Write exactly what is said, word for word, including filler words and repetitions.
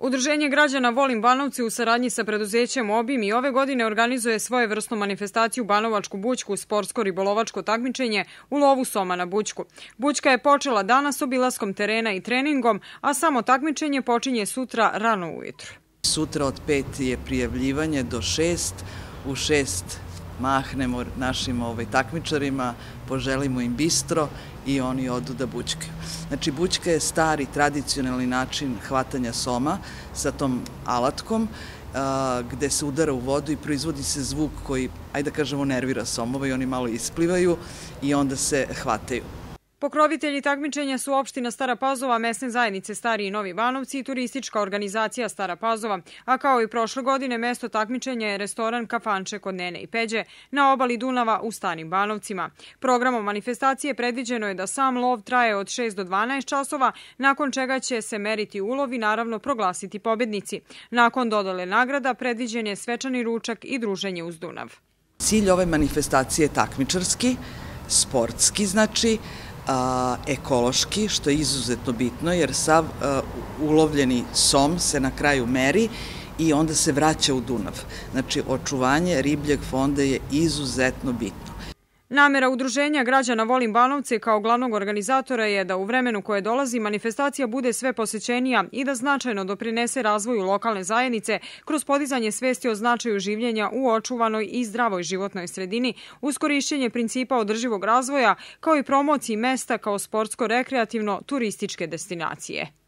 Udruženje građana Volim Banovci u saradnji sa preduzećem Obim i ove godine organizuje svojevrsnu manifestaciju Banovačku bućku, sportsko-ribolovačko takmičenje u lovu soma na bućku. Bućka je počela danas obilaskom terena i treningom, a samo takmičenje počinje sutra rano ujutru. Sutra od pet je prijavljivanje do šest, u šest mahnemo našim ovaj, takmičarima, poželimo im bistro i oni odu da bućkaju. Znači, bućka je stari, tradicionalni način hvatanja soma sa tom alatkom, a, gde se udara u vodu i proizvodi se zvuk koji, ajde da kažemo, nervira somova i oni malo isplivaju i onda se hvataju. Pokrovitelji takmičenja su opština Stara Pazova, mesne zajednice Stari i Novi Banovci i turistička organizacija Stara Pazova, a kao i prošle godine mesto takmičenja je restoran Kafanče kod Nene i Peđe na obali Dunava u Starim Banovcima. Programom manifestacije predviđeno je da sam lov traje od šest do dvanaest časova, nakon čega će se meriti ulov i naravno proglasiti pobednici. Nakon dodele nagrada predviđen je svečani ručak i druženje uz Dunav. Cilj ove manifestacije je takmičarski, sportski, znači, A, ekološki, što je izuzetno bitno, jer sav a, ulovljeni som se na kraju meri i onda se vraća u Dunav. Znači, očuvanje ribljeg fonda je izuzetno bitno. Namera Udruženja građana Volim Banovce kao glavnog organizatora je da u vremenu koje dolazi manifestacija bude sve posećenija i da značajno doprinese razvoju lokalne zajednice kroz podizanje svesti o značaju življenja u očuvanoj i zdravoj životnoj sredini, uz korišćenje principa održivog razvoja, kao i promociji mesta kao sportsko-rekreativno turističke destinacije.